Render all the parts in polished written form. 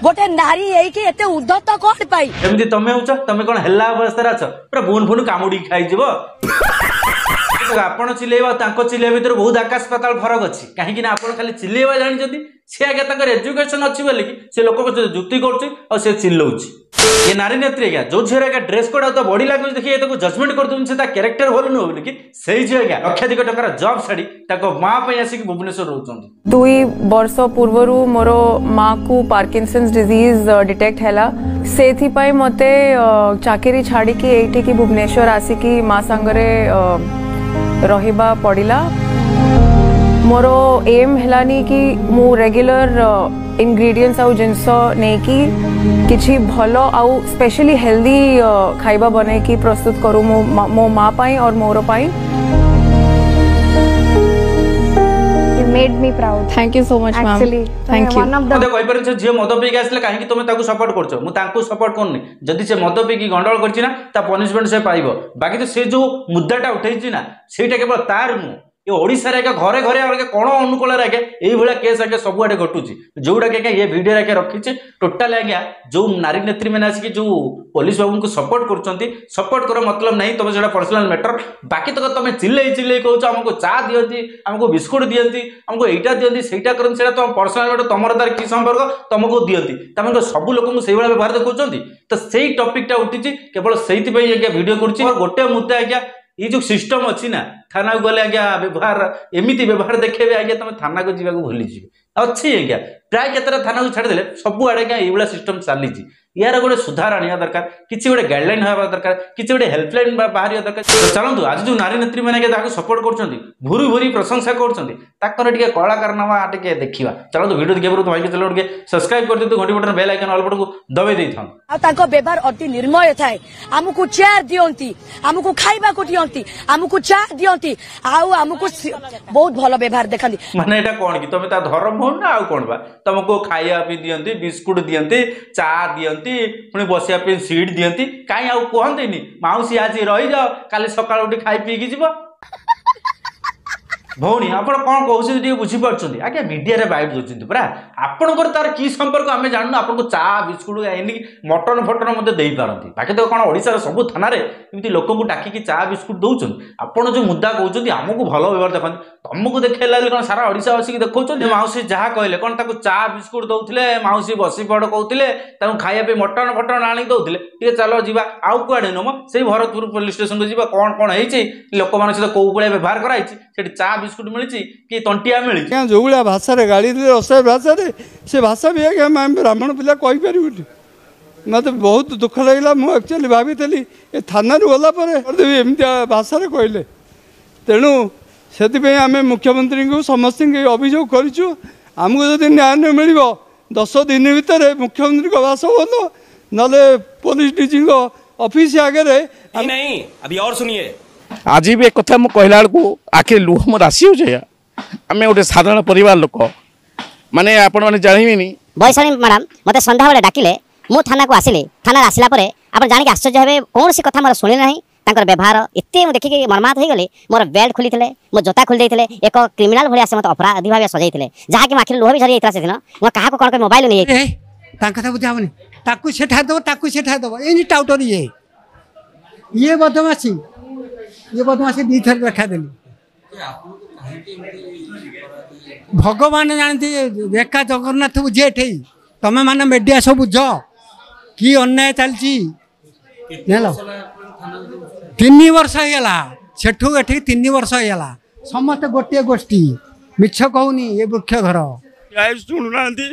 ଗୋଟେ ନାରୀ ହେଇକି ଏତେ ଉଦ୍ଧତ କଣ ପାଇଁ? ଏମିତି ତମେ ହଉଛ, ତମେ କଣ ହେଲା ଅବସ୍ଥାରେ ଅଛ? ପୁରା ବୁନ ଫୁନ କାମୁଡିକି ଖାଇଯିବ। ଆପଣ ଚିଲେଇବା ତାଙ୍କ ଚିଲେଇବା ଭିତରେ ବହୁତ ଆକାଶ ପାତାଳ ଫରକ ଅଛି। କାହିଁକି ନା ଆପଣ ଖାଲି ଚିଲେଇବା ଜାଣିଛନ୍ତି, ସେ ଆଜ୍ଞା ତାଙ୍କର ଏଜୁକେସନ ଅଛି ବୋଲିକି ସେ ଲୋକଙ୍କ ସହିତ ଯୁକ୍ତି କରୁଛି ଆଉ ସେ ଚିଲଉଛି। ଏ ନାରୀ ନେତ୍ରୀ ଆଜ୍ଞା, ଯୋଉ ଝିଅର ଆଜ୍ଞା ଡ୍ରେସ୍ କୋଡ୍ ଆଉ ତା ବଡି ଲାଙ୍ଗୁଏଜ ଦେଖି ତାକୁ ଜଜମେଣ୍ଟ କରିଦେଉଛନ୍ତି, ସେ ତା କ୍ୟାରେକ୍ଟର ଭଲ ନୁହଁ ବୋଲିକି, ସେଇ ଝିଅ ଆଜ୍ଞା ଲକ୍ଷାଧିକ ଟଙ୍କାର ଜବ୍ ଛାଡି ତାଙ୍କ ମା ପାଇଁ ଆସିକି ଭୁବନେଶ୍ୱର ରହୁଛନ୍ତି। 2 ବର୍ଷ ପୂର୍ବରୁ ମୋର ମାକୁ ପାର୍କିନସନ୍ସ ଡିଜିଜ୍ ଡିଟେକ୍ଟ ହେଲା। ସେଥିପାଇଁ ମୋତେ ଚାକିରି ଛାଡ଼ିକି ଏଇଠିକି ଭୁବନେଶ୍ୱର ଆସିକି ମା ସାଙ୍ଗରେ ରହିବା ପଡ଼ିଲା। ମୋର ଏମ୍ ହେଲାନି କି ମୁଁ ରେଗୁଲାର ଇନଗ୍ରିଡ଼ିଏଣ୍ଟସ୍ ଆଉ ଜିନିଷ ନେଇକି କିଛି ଭଲ ଆଉ ସ୍ପେଶାଲି ହେଲ୍ଦି ଖାଇବା ବନେଇକି ପ୍ରସ୍ତୁତ କରୁ ମୋ ମା ପାଇଁ और ମୋର ପାଇଁ। You made me proud. Thank you so much, ma'am. Actually, Thank you. One of the ମତେ କହିପାରିବେ, ସେ ଝିଅ ମଦ ପିଇକି ଆସିଲେ କାହିଁକି ତମେ ତାକୁ ସପୋର୍ଟ କରୁଛ? ମୁଁ ତାଙ୍କୁ ସପୋର୍ଟ କରୁନି। ଯଦି ସେ ମଦ ପିଇକି ଗଣ୍ଡଗୋଳ କରିଛି ନା, ତା ପନିଶମେଣ୍ଟ ସେ ପାଇବ। ବାକି ତ ସେ ଯୋଉ ମୁଦ୍ଦାଟା ଉଠେଇଛି ନା, ସେଇଟା କେବଳ ତାର ନୁହଁ, ଏ ଓଡ଼ିଶାରେ ଆଜ୍ଞା ଘରେ ଘରେ ଆଜ୍ଞା କୋଣ ଅନୁକୂଳରେ ଆଜ୍ଞା ଏଇଭଳିଆ କେସ୍ ଆଜ୍ଞା ସବୁଆଡ଼େ ଘଟୁଛି, ଯୋଉଟାକି ଆଜ୍ଞା ଏ ଭିଡ଼ିଓରେ ଆଜ୍ଞା ରଖିଛି। ଟୋଟାଲ ଆଜ୍ଞା ଯୋଉ ନାରୀ ନେତ୍ରୀ ମାନେ ଆସିକି ଯୋଉ ପୋଲିସ ବାବୁଙ୍କୁ ସପୋର୍ଟ କରୁଛନ୍ତି, ସପୋର୍ଟ କର ମତଲବ ନାହିଁ, ତମେ ସେଇଟା ପର୍ସନାଲ ମ୍ୟାଟର। ବାକି ତକ ତମେ ଚିଲେଇ ଚିଲେଇ କହୁଛ ଆମକୁ ଚା ଦିଅନ୍ତି, ଆମକୁ ବିସ୍କୁଟ ଦିଅନ୍ତି, ଆମକୁ ଏଇଟା ଦିଅନ୍ତି, ସେଇଟା କରନ୍ତି, ସେଇଟା ତମ ପର୍ସନାଲ ମ୍ୟାଟର। ତମର ତାର କି ସମ୍ପର୍କ ତମକୁ ଦିଅନ୍ତି? ତମେ ସବୁ ଲୋକଙ୍କୁ ସେଇଭଳିଆ ବ୍ୟବହାର ଦେଖାଉଛନ୍ତି। ତ ସେଇ ଟପିକଟା ଉଠିଛି, କେବଳ ସେଇଥିପାଇଁ ଆଜ୍ଞା ଭିଡ଼ିଓ କରୁଛି। ଗୋଟେ ମୁଦ୍ଦା ଆଜ୍ଞା, ଏଇ ଯୋଉ ସିଷ୍ଟମ ଅଛି ନା, ଥାନାକୁ ଗଲେ ଆଜ୍ଞା ବ୍ୟବହାର ଏମିତି ବ୍ୟବହାର ଦେଖେଇବେ ଆଜ୍ଞା, ତମେ ଥାନାକୁ ଯିବାକୁ ଭୁଲିଯିବେ। ଅଛି ଆଜ୍ଞା, ପ୍ରାୟ କେତେଟା ଥାନାକୁ ଛାଡ଼ିଦେଲେ ସବୁଆଡ଼େ ଆଜ୍ଞା ଏଇଭଳିଆ ସିଷ୍ଟମ ଚାଲିଛି। ୟାର ଗୋଟେ ସୁଧାର ଆଣିବା ଦରକାର, କିଛି ଗୋଟେ ଗାଇଡଲାଇନ ହେବା ଦରକାର, କିଛି ଗୋଟେ ହେଲ୍ପଲାଇନ ବାହାରିବା ଦରକାର। ତ ଚାଲନ୍ତୁ, ଆଜି ଯୋଉ ନାରୀ ନେତ୍ରୀ ମାନେ ଆଜ୍ଞା ତାକୁ ସପୋର୍ଟ କରୁଛନ୍ତି, ଭୁରି ଭୁରି ପ୍ରଶଂସା କରୁଛନ୍ତି, ତାଙ୍କର ଟିକେ କଳାକାରନାମା ଟିକେ ଦେଖିବା। ଚାଲନ୍ତୁ, ଭିଡ଼ିଓ ଦେଖିବା ପୂର୍ବରୁ ଭାଇକି ଚାଲନ୍ତୁ ଟିକେ ସବସ୍କ୍ରାଇବ କରିଦିଅନ୍ତୁ, ଘଣ୍ଟି ବଟନ ବେଲ୍ ଆଇକନ୍ ଅଲ୍ ବଟନକୁ ଦବାଇ ଦେଇଥାନ୍ତୁ। ଆଉ ତାଙ୍କ ବ୍ୟବହାର ଅତି ନିର୍ମୟ ଥାଏ। ଆମକୁ ଚେୟାର ଦିଅନ୍ତି, ଆମକୁ ଖାଇବାକୁ ଦିଅନ୍ତି, ଆମକୁ ଚା ଦିଅନ୍ତି, ଆଉ ଆମକୁ ବହୁତ ଭଲ ବ୍ୟବହାର ଦେଖାନ୍ତି। ମାନେ ଏଇଟା କଣ କି ତମେ ତା ଧର୍ମ ଭଉଣୀ ନା ଆଉ କଣ ବା? ତମକୁ ଖାଇବା ପାଇଁ ଦିଅନ୍ତି, ବିସ୍କୁଟ ଦିଅନ୍ତି, ଚା ଦିଅନ୍ତି, ପୁଣି ବସିବା ପାଇଁ ସିଟ୍ ଦିଅନ୍ତି, କାହିଁ ଆଉ କୁହନ୍ତିନି ମାଉସୀ ଆଜି ରହିଯାଅ, କାଲି ସକାଳୁ ଉଠି ଖାଇ ପିଇକି ଯିବ? ଭଉଣୀ, ଆପଣ କଣ କହୁଛନ୍ତି ଟିକେ ବୁଝିପାରୁଛନ୍ତି? ଆଜ୍ଞା ମିଡିଆରେ ବାଇଟ୍ ଦଉଛନ୍ତି ପରା। ଆପଣଙ୍କର ତାର କି ସମ୍ପର୍କ ଆମେ ଜାଣୁନୁ। ଆପଣଙ୍କୁ ଚା ବିସ୍କୁଟ ଏମିତି ମଟନ ଫଟନ ମଧ୍ୟ ଦେଇପାରନ୍ତି। ବାକି ତ କଣ ଓଡ଼ିଶାର ସବୁ ଥାନାରେ ଏମିତି ଲୋକଙ୍କୁ ଡାକିକି ଚା ବିସ୍କୁଟ ଦଉଛନ୍ତି? ଆପଣ ଯୋଉ ମୁଦ୍ଦା କହୁଛନ୍ତି ଆମକୁ ଭଲ ବ୍ୟବହାର ଦେଖନ୍ତି, ତମକୁ ଦେଖେଇଲା ବୋଲି କଣ ସାରା ଓଡ଼ିଶା ବସିକି ଦେଖାଉଛନ୍ତି? ମାଉସୀ ଯାହା କହିଲେ, କଣ ତାକୁ ଚା ବିସ୍କୁଟ ଦଉଥିଲେ, ମାଉସୀ ବସି ପଡ଼ କହୁଥିଲେ, ତାକୁ ଖାଇବା ପାଇଁ ମଟନ ଫଟନ ଆଣିକି ଦଉଥିଲେ? ଟିକେ ଚାଲ ଯିବା, ଆଉ କୁଆଡ଼େ ନୁହଁ, ସେଇ ଭରତପୁର ପୋଲିସ ଷ୍ଟେସନକୁ ଯିବା। କଣ କଣ ହେଇଛି, ଲୋକମାନଙ୍କ ସହିତ କୋଉ ଭଳିଆ ବ୍ୟବହାର କରାହେଇଛି, ସେଠି ଚା ବିସ୍କୁଟ ମିଳିଛି କି ତଣ୍ଟିଆ ମିଳିଛି? ଆଜ୍ଞା ଯେଉଁ ଭଳିଆ ଭାଷାରେ ଗାଳି ଦେଲେ, ଅସହ୍ୟ ଭାଷାରେ, ସେ ଭାଷା ବି ଆଜ୍ଞା ଆମେ ବ୍ରାହ୍ମଣ ପିଲା କହିପାରିବୁନି। ମୋତେ ବହୁତ ଦୁଃଖ ଲାଗିଲା। ମୁଁ ଆକ୍ଚୁଆଲି ଭାବିଥିଲି ଏ ଥାନାରୁ ଗଲା ପରେ କରିଦେବି, ଏମିତିଆ ଭାଷାରେ କହିଲେ। ତେଣୁ ସେଥିପାଇଁ ଆମେ ମୁଖ୍ୟମନ୍ତ୍ରୀଙ୍କୁ ସମସ୍ତଙ୍କୁ ଅଭିଯୋଗ କରିଛୁ। ଆମକୁ ଯଦି ନ୍ୟାୟ ନ ମିଳିବ 10 ଦିନ ଭିତରେ, ମୁଖ୍ୟମନ୍ତ୍ରୀଙ୍କ ବାସଭବନ ନହେଲେ ପୋଲିସ ଡିଜିଙ୍କ ଅଫିସ ଆଗରେ। नहीं, अभी और सुनिए। ଆଜି ବି କଥା ମୁଁ କହିଲା ବେଳକୁ ଆଖିରେ ଲୁହ ମୋର ଆସିଯାଉଛି ଆଜ୍ଞା। ଆମେ ଗୋଟେ ସାଧାରଣ ପରିବାର ଲୋକ, ମାନେ ଆପଣମାନେ ଜାଣିବେନି। ବୈଶାଳୀ ମ୍ୟାଡ଼ାମ ମୋତେ ସନ୍ଧ୍ୟାବେଳେ ଡାକିଲେ, ମୁଁ ଥାନାକୁ ଆସିଲି। ଥାନାରେ ଆସିଲା ପରେ ଆପଣ ଜାଣିକି ଆଶ୍ଚର୍ଯ୍ୟ ହେବେ, କୌଣସି କଥା ମୋର ଶୁଣିଲେ ନାହିଁ। ତାଙ୍କର ବ୍ୟବହାର ଏତେ ମୁଁ ଦେଖିକି ମର୍ମାହତ ହେଇଗଲି। ମୋର ବେଲ୍ଟ ଖୋଲିଥିଲେ, ମୋ ଜୋତା ଖୋଲି ଦେଇଥିଲେ, ଏକ କ୍ରିମିନାଲ ଭଳିଆ ସେ ମୋତେ ଅପରାଧୀ ଭାବେ ସଜାଇଥିଲେ, ଯାହାକି ମୋ ଆଖିରେ ଲୁହ ବି ଝରି ଯାଇଥିଲା ସେଦିନ। ମୁଁ କାହାକୁ କ'ଣ କରି ମୋବାଇଲ ନେଇଯାଇଥିଲି। ତାଙ୍କ କଥା ବୁଝା ହବନି, ତାକୁ ସେଠା ଦେବ, ତାକୁ ସେଠା ଦେବ, ଏମିତି ଟାଉଟର। ଇଏ ବଦମାସି, ଇଏ ବଦମାସି 2ଥର ଦେଖାଦେଲି। ଭଗବାନ ଜାଣନ୍ତି, ରେଖା ଜଗନ୍ନାଥ ବୁଝେ ଏଠେଇ। ତମେ ମାନେ ମିଡ଼ିଆ ସବୁ ବୁଝ କି ଅନ୍ୟାୟ ଚାଲିଛି। ଜାଣିଲ, 3 ବର୍ଷ ହେଇଗଲା, ସେଠୁ ଏଠିକି 3 ବର୍ଷ ହେଇଗଲା। ସମସ୍ତେ ଗୋଟିଏ ଗୋଷ୍ଠୀ, ମିଛ କହୁନି ଏ ବୃକ୍ଷ ଘର। ଶୁଣୁନାହାନ୍ତି,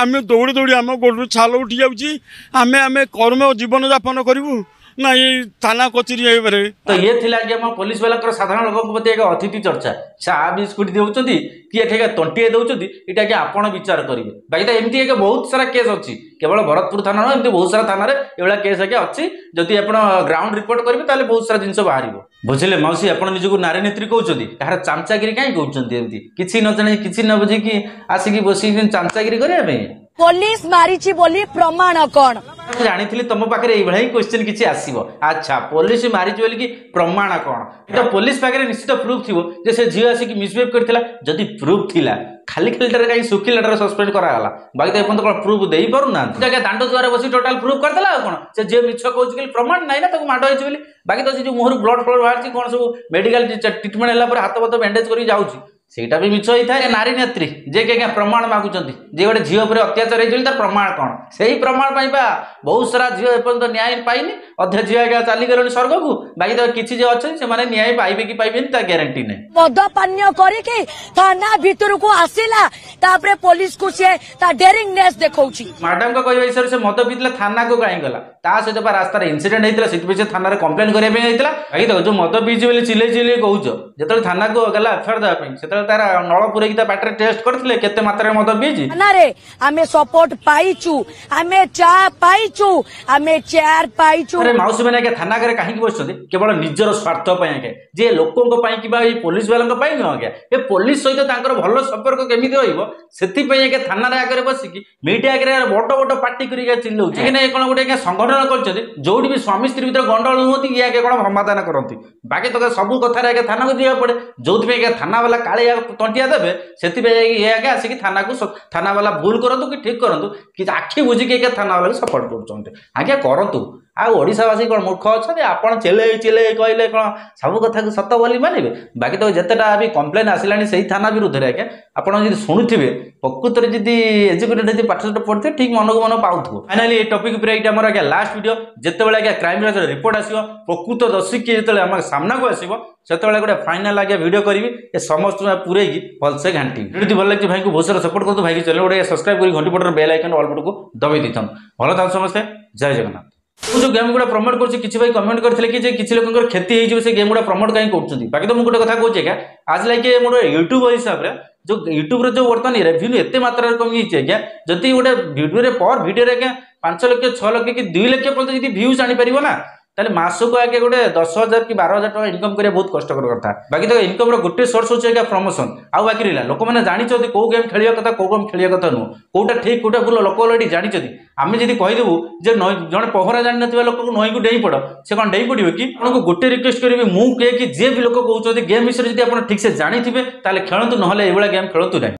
ଆମେ ଦୌଡ଼ି ଦୌଡ଼ି ଆମ ଗୋଡ଼ରୁ ଛାଲ ଉଠି ଯାଉଛି। ଆମେ କର୍ମ ଜୀବନ ଯାପନ କରିବୁ ନା ଏଇ ଥାନା କଚେରୀ ହେଇପାରେ? ତ ଇଏ ଥିଲା ଆଜ୍ଞା ଆମ ପୋଲିସ ବାଲାଙ୍କର ସାଧାରଣ ଲୋକଙ୍କ ପ୍ରତି ଏକ ଅତିଥି ଚର୍ଚ୍ଚା। ଚା ବିସ୍କୁଟ ଦେଉଛନ୍ତି କି ଏଠି ଆଜ୍ଞା ତଣ୍ଟିଏ ଦେଉଛନ୍ତି, ଏଇଟା ଆଜ୍ଞା ଆପଣ ବିଚାର କରିବେ। ବାକି ତ ଏମିତି ଆଜ୍ଞା ବହୁତ ସାରା କେସ୍ ଅଛି, କେବଳ ଭରତପୁର ଥାନା ନୁହଁ, ଏମିତି ବହୁତ ସାରା ଥାନାରେ ଏଭଳିଆ କେସ୍ ଆଜ୍ଞା ଅଛି। ଯଦି ଆପଣ ଗ୍ରାଉଣ୍ଡ ରିପୋର୍ଟ କରିବେ ତାହେଲେ ବହୁତ ସାରା ଜିନିଷ ବାହାରିବ। ବୁଝିଲେ ମାଉସୀ, ଆପଣ ନିଜକୁ ନାରୀ ନେତ୍ରୀ କହୁଛନ୍ତି, କାହାର ଚାମଚାଗିରି କାହିଁ କହୁଛନ୍ତି? ଏମିତି କିଛି ନ ଜାଣି କିଛି ନ ବୁଝିକି ଆସିକି ବସିକି ଚାମଚାଗିରି କରିବା ପାଇଁ? ପୋଲିସ ମାରିଛି ବୋଲି ପ୍ରମାଣ କଣ? ମୁଁ ଜାଣିଥିଲି ତମ ପାଖରେ ଏଇଭଳିଆ ହିଁ କ୍ୱେଶ୍ଚିନ୍ କିଛି ଆସିବ। ଆଚ୍ଛା, ପୋଲିସ ମାରିଛି ବୋଲିକି ପ୍ରମାଣ କ'ଣ? ତ ପୋଲିସ ପାଖରେ ନିଶ୍ଚିତ ପ୍ରୁଫ୍ ଥିବ ଯେ ସେ ଝିଅ ଆସିକି ମିସବିହେଭ୍ କରିଥିଲା। ଯଦି ପ୍ରୁଫ୍ ଥିଲା, ଖାଲି ଖାଲିଟାରେ କାହିଁ ଶୁଖିଲାଟାରେ ସସ୍ପେଣ୍ଡ କରାଗଲା? ବାକି ତ ଏପର୍ଯ୍ୟନ୍ତ କ'ଣ ପ୍ରୁଫ୍ ଦେଇପାରୁନାହାନ୍ତି? ଆଜ୍ଞା, ଦାଣ୍ଡ ଦୁଆରେ ବସି ଟୋଟାଲ ପ୍ରୁଫ୍ କରିଦେଲା। ଆଉ କ'ଣ ସେ ଝିଅ ମିଛ କହୁଛି ବୋଲି ପ୍ରମାଣ ନାହିଁ ନା ତାକୁ ମାଡ଼ ହେଇଛି ବୋଲି? ବାକି ତ ସେ ଯୋଉ ମୁହଁରୁ ବ୍ଲଡ ଫ୍ଲଡ ବାହାରିଛି, କ'ଣ ସବୁ ମେଡିକାଲ ଟ୍ରିଟମେଣ୍ଟ ହେଲା ପରେ ହାତ ଫାତ ବ୍ୟାଣ୍ଡେଜ କରିକି ଯାଉଛି, ସେଇଟା ବି ମିଛ ହେଇଥାଏ। ନାରୀ ନେତ୍ରୀ ଯିଏକି ଆଜ୍ଞା ପ୍ରମାଣ ମାଗୁଛନ୍ତି ଯେ ଗୋଟେ ଝିଅ ଉପରେ ଅତ୍ୟାଚାର ହେଇଛି ବୋଲି, ତାର ପ୍ରମାଣ କ'ଣ? ସେଇ ପ୍ରମାଣ ପାଇଁ ବା ବହୁତ ସାରା ଝିଅ ଏପର୍ଯ୍ୟନ୍ତ ନ୍ୟାୟ ପାଇନି। ଅଧେ ଝିଅ ଆଜ୍ଞା ଚାଲିଗଲେଣି ସ୍ୱର୍ଗକୁ, ବାକି ତ କିଛି ଯେ ଅଛନ୍ତି ସେମାନେ ନ୍ୟାୟ ପାଇବେ କି ପାଇବେନି ତା ଗ୍ୟାରେଣ୍ଟି ନାହିଁ। ମଦ ପାନୀୟ କରିକି ଥାନା ଭିତରକୁ ଆସିଲା, ତାପରେ ପୋଲିସକୁ ସିଏ ତା ଡେରିଂନେସ୍ ଦେଖଉଛି। ମ୍ୟାଡାମଙ୍କ କହିବା ହିସାବରେ ସେ ମଦ ପିଇଥିଲା, ଥାନାକୁ କାହିଁ ଗଲା? ତା ସହିତ ବା ରାସ୍ତାରେ ଇନସିଡେଣ୍ଟ ହେଇଥିଲା, ସେଥିପାଇଁ ସେ ଥାନାରେ କମ୍ପ୍ଲେନ କରିବା ପାଇଁ ଯାଇଥିଲା। ବାକି ଦେଖ, ଯୋଉ ମଦ ପିଇଛି ବୋଲି ଚିଲେଇ ଚିଲେଇ କହୁଛ, ଯେତେବେଳେ ଥାନାକୁ ଗଲା ଏଫଆଇଆର ଦେବା ପାଇଁ, ସେତେବେଳେ ତାର ନଳ ପୁରେଇକି ତା ପାଟିରେ ଟେଷ୍ଟ କରିଥିଲେ କେତେ ମାତ୍ରାରେ ମଦ ପିଇଛି? ଥାନାରେ ଆମେ ସପୋର୍ଟ ପାଇଛୁ, ଆମେ ଚା ପାଇଛୁ, ଆମେ ଚେୟାର ପାଇଛୁ। ଆରେ ମାଉସୀ ମାନେ ଆଜ୍ଞା ଥାନା ଆଗରେ କାହିଁକି ବସିଛନ୍ତି? କେବଳ ନିଜର ସ୍ୱାର୍ଥ ପାଇଁ ଆଜ୍ଞା, ଯେ ଲୋକଙ୍କ ପାଇଁ କିମ୍ବା ଏଇ ପୋଲିସ ବାଲାଙ୍କ ପାଇଁ ନୁହଁ ଆଜ୍ଞା। ଏ ପୋଲିସ ସହିତ ତାଙ୍କର ଭଲ ସମ୍ପର୍କ କେମିତି ରହିବ, ସେଥିପାଇଁ ଆଜ୍ଞା ଥାନାରେ ଆଗରେ ବସିକି ମିଡିଆ ଆଗରେ ବଡ ବଡ ପାଟି କରିକି ଚିଲଉଛି। କାହିଁକି ନା ଏ କ'ଣ ଗୋଟେ ଆଜ୍ଞା ସଂଗଠନ କରିଛନ୍ତି, ଯୋଉଠି ବି ସ୍ୱାମୀ ସ୍ତ୍ରୀ ଭିତରେ ଗଣ୍ଡଗୋଳ ହୁଅନ୍ତି, ଇଏ ଆଜ୍ଞା କ'ଣ ସମାଧାନ କରନ୍ତି। ବାକି ତ ସବୁ କଥାରେ ଆଜ୍ଞା ଥାନାକୁ ଯିବାକୁ ପଡେ, ଯୋଉଥିପାଇଁ ଆଜ୍ଞା ଥାନା ବାଲା କାଳେ ତଣ୍ଟିଆ ଦେବେ, ସେଥିପାଇଁ ଇଏ ଆଜ୍ଞା ଆସିକି ଥାନାକୁ, ଥାନା ବାଲା ଭୁଲ କରନ୍ତୁ କି ଠିକ କରନ୍ତୁ କି, ଆଖି ବୁଝିକି ଆଜ୍ଞା ଥାନା ବାଲାକୁ ସପୋର୍ଟ କରୁଛନ୍ତି। ଆଜ୍ଞା କରନ୍ତୁ, ଆଉ ଓଡ଼ିଶାବାସୀ କ'ଣ ମୂର୍ଖ ଅଛନ୍ତି? ଆପଣ ଚିଲେଇ ଚିଲେଇ କହିଲେ କ'ଣ ସବୁ କଥାକୁ ସତ ବୋଲି ମାନିବେ? ବାକି ତ ଯେତେଟା ବି କମ୍ପ୍ଲେନ୍ ଆସିଲାଣି ସେଇ ଥାନା ବିରୁଦ୍ଧରେ ଆଜ୍ଞା, ଆପଣ ଯଦି ଶୁଣୁଥିବେ, ପ୍ରକୃତରେ ଯଦି ଏଜୁକେଟେଡ୍ ଯଦି ପାଠ ସାଠ ପଢ଼ିଥିବେ, ଠିକ୍ ମନକୁ ମନ ପାଉଥିବ। ଫାଇନାଲି ଏ ଟପିକ୍ ଉପରେ ଏଇଟା ଆମର ଆଜ୍ଞା ଲାଷ୍ଟ ଭିଡ଼ିଓ। ଯେତେବେଳେ ଆଜ୍ଞା କ୍ରାଇମ୍ ବ୍ରାଞ୍ଚର ରିପୋର୍ଟ ଆସିବ, ପ୍ରକୃତ ଦୋଷୀ କିଏ ଯେତେବେଳେ ଆମ ସାମ୍ନାକୁ ଆସିବ, ସେତେବେଳେ ଗୋଟେ ଫାଇନାଲ ଆଜ୍ଞା ଭିଡ଼ିଓ କରିବି, ଏ ସମସ୍ତଙ୍କୁ ପୁରେଇକି ଭଲସେ ଘାଣ୍ଟିବି। ଭିଡ଼ିଓ ଭଲ ଲାଗିଛି, ଭାଇଙ୍କୁ ବହୁତ ସାରା ସପୋର୍ଟ କରନ୍ତୁ। ଭାଇକି ଚ୍ୟାନେଲ ଗୋଟେ ସବସ୍କ୍ରାଇବ୍ କରି ଘଣ୍ଟି ବଟନ୍ ବେଲ୍ ଆଇକନ୍ ଅଲ୍ ବଟନକୁ ଦବାଇ ଦେଇଥାନ୍ତୁ। ଭଲ ଥାନ୍ତୁ ସମସ୍ତେ, ଜୟ ଜଗନ୍ନାଥ। ମୁଁ ଯୋଉ ଗେମ୍ ଗୁଡ଼ା ପ୍ରମୋଟ କରୁଛି, କିଛି ଭାଇ କମେଣ୍ଟ କରିଥିଲେ କି ଯେ କିଛି ଲୋକଙ୍କର କ୍ଷତି ହେଇଯିବ, ସେ ଗେମ୍ ଗୁଡ଼ା ପ୍ରମୋଟ କାହିଁ କରୁଛନ୍ତି? ବାକି ତ ମୁଁ ଗୋଟେ କଥା କହୁଛି ଆଜ୍ଞା, ଆଜ ଲାଇକ୍ ମୋର ୟୁଟ୍ୟୁବ ହିସାବରେ ଯୋଉ ୟୁଟ୍ୟୁବର ଯୋଉ ବର୍ତ୍ତମାନ ରେଭିନ୍ୟୁ ଏତେ ମାତ୍ରାରେ କମିଯାଇଛି ଆଜ୍ଞା, ଯଦି ଗୋଟେ ଭିଡ଼ିଓରେ ପର ଭିଡ଼ିଓରେ ଆଜ୍ଞା 5 ଲକ୍ଷ, 6 ଲକ୍ଷ କି 2 ଲକ୍ଷ ପର୍ଯ୍ୟନ୍ତ ଯଦି ଭ୍ୟୁଜ୍ ଆଣିପାରିବ ନା, ତାହେଲେ ମାସକୁ ଆଜ୍ଞା ଗୋଟେ 10,000 କି 12,000 ଟଙ୍କା ଇନକମ୍ କରିବା ବହୁତ କଷ୍ଟକର କଥା। ବାକି ତ ଇନକମ୍ର ଗୋଟେ ସୋର୍ସ ହେଉଛି ଆଜ୍ଞା ପ୍ରମୋସନ୍। ଆଉ ବାକି ରହିଲା, ଲୋକମାନେ ଜାଣିଛନ୍ତି କୋଉ ଗେମ୍ ଖେଳିବା କଥା, କୋଉ ଗେମ୍ ଖେଳିବା କଥା ନୁହଁ, କୋଉଟା ଠିକ୍ କୋଉଟା ଭୁଲ ଲୋକ ଅଲରେଡି ଜାଣିଛନ୍ତି। ଆମେ ଯଦି କହିଦେବୁ ଯେ ନଈ, ଜଣେ ପହଁରା ଜାଣିନଥିବା ଲୋକକୁ ନଈକୁ ଡେଇଁ ପଡ଼, ସେ କ'ଣ ଡେଇଁ ପଡ଼ିବ କି? ଆପଣଙ୍କୁ ଗୋଟେ ରିକ୍ୱେଷ୍ଟ କରିବି ମୁଁ, କିଏ କି ଯିଏ ବି ଲୋକ କହୁଛନ୍ତି, ଗେମ୍ ବିଷୟରେ ଯଦି ଆପଣ ଠିକ୍ସେ ଜାଣିଥିବେ ତାହେଲେ ଖେଳନ୍ତୁ, ନହେଲେ ଏଇଭଳିଆ ଗେମ୍ ଖେଳନ୍ତୁ ନାହିଁ।